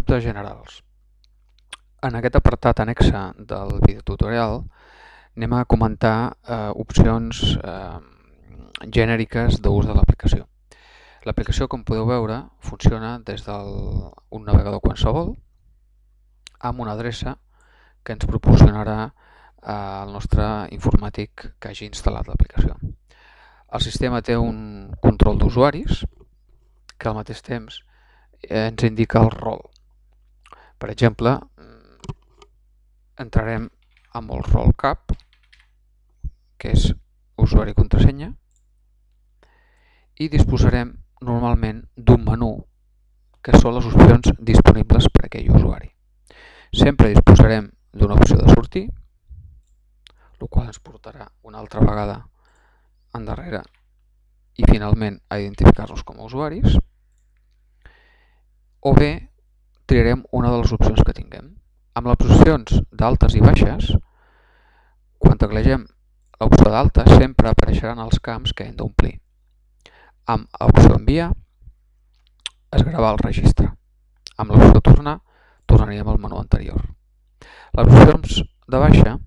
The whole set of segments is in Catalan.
dubtes generals. En aquest apartat annexe del videotutorial anem a comentar opcions genèriques d'ús de l'aplicació. L'aplicació, com podeu veure, funciona des d'un navegador qualsevol amb una adreça que ens proporcionarà el nostre informàtic que hagi instal·lat l'aplicació. El sistema té un control d'usuaris que al mateix temps ens indica el rol. Per exemple, entrarem amb el rol cap, que és usuari i contrasenya, i disposarem normalment d'un menú que són les opcions disponibles per a aquell usuari. Sempre disposarem d'una opció de sortir, el qual ens portarà una altra vegada endarrere i finalment a identificar-nos com a usuaris, o bé triarem una de les opcions que tinguem. Amb les opcions d'altes i baixes, quan teclegem l'opció d'altes sempre apareixeran els camps que hem d'omplir. Amb l'opció enviar es gravarà el registre. Amb l'opció tornar, tornaríem al menú anterior. Les opcions de baixa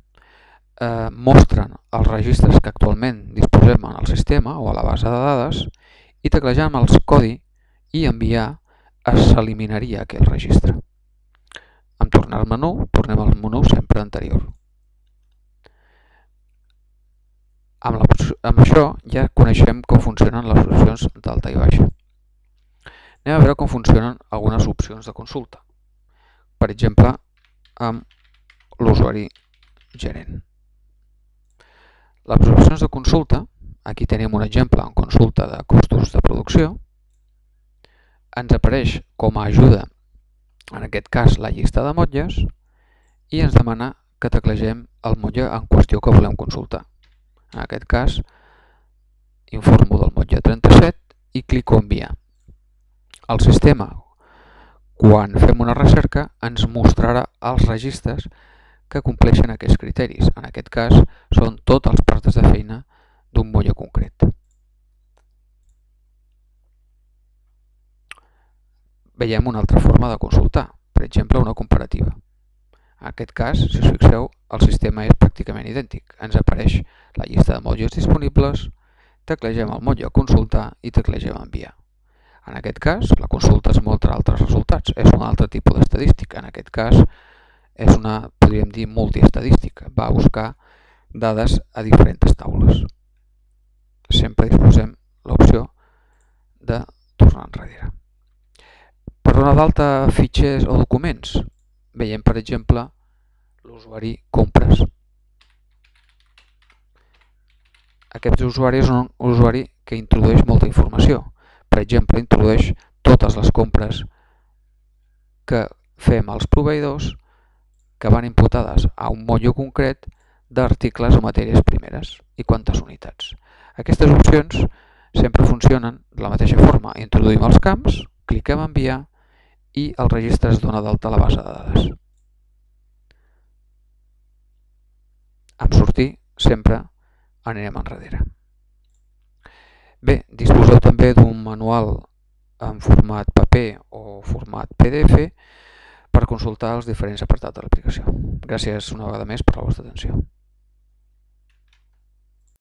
mostren els registres que actualment disposem en el sistema o a la base de dades i teclejant el codi i enviar s'eliminaria aquell registre. En tornar al menú, tornem al menú sempre anterior. Amb això ja coneixem com funcionen les opcions d'alta i baixa. Anem a veure com funcionen algunes opcions de consulta. Per exemple, amb l'usuari gerent. Les opcions de consulta, aquí tenim un exemple en consulta de costos de producció, ens apareix com a ajuda, en aquest cas la llista de motlles, i ens demana que teclegem el motlle en qüestió que volem consultar. En aquest cas, informo del motlle 37 i clico enviar. El sistema, quan fem una recerca, ens mostrarà els registres que compleixen aquests criteris. En aquest cas, són tots els portes de feina d'un motlle concret. Veiem una altra forma de consultar, per exemple, una comparativa. En aquest cas, si us fixeu, el sistema és pràcticament idèntic. Ens apareix la llista de motlles disponibles, teclegem el motlle consultar i teclegem enviar. En aquest cas, la consulta es mostra altres resultats. És un altre tipus d'estadística. En aquest cas, és una, podríem dir, multiestadística. Va a buscar dades a diferents taules. Sempre disposem l'opció de tornar enrere. Per donar d'alta fitxers o documents, veiem, per exemple, l'usuari compres. Aquest usuari és un usuari que introdueix molta informació. Per exemple, introdueix totes les compres que fem als proveïdors que van imputades a un motlle concret d'articles o matèries primeres i quantes unitats. Aquestes opcions sempre funcionen de la mateixa forma. Introduïm els camps, cliquem a enviar i el registre es dona d'alta a la base de dades. En sortir sempre anirem enrere. Bé, disposeu també d'un manual en format paper o format PDF per consultar els diferents apartats de l'aplicació. Gràcies una vegada més per la vostra atenció.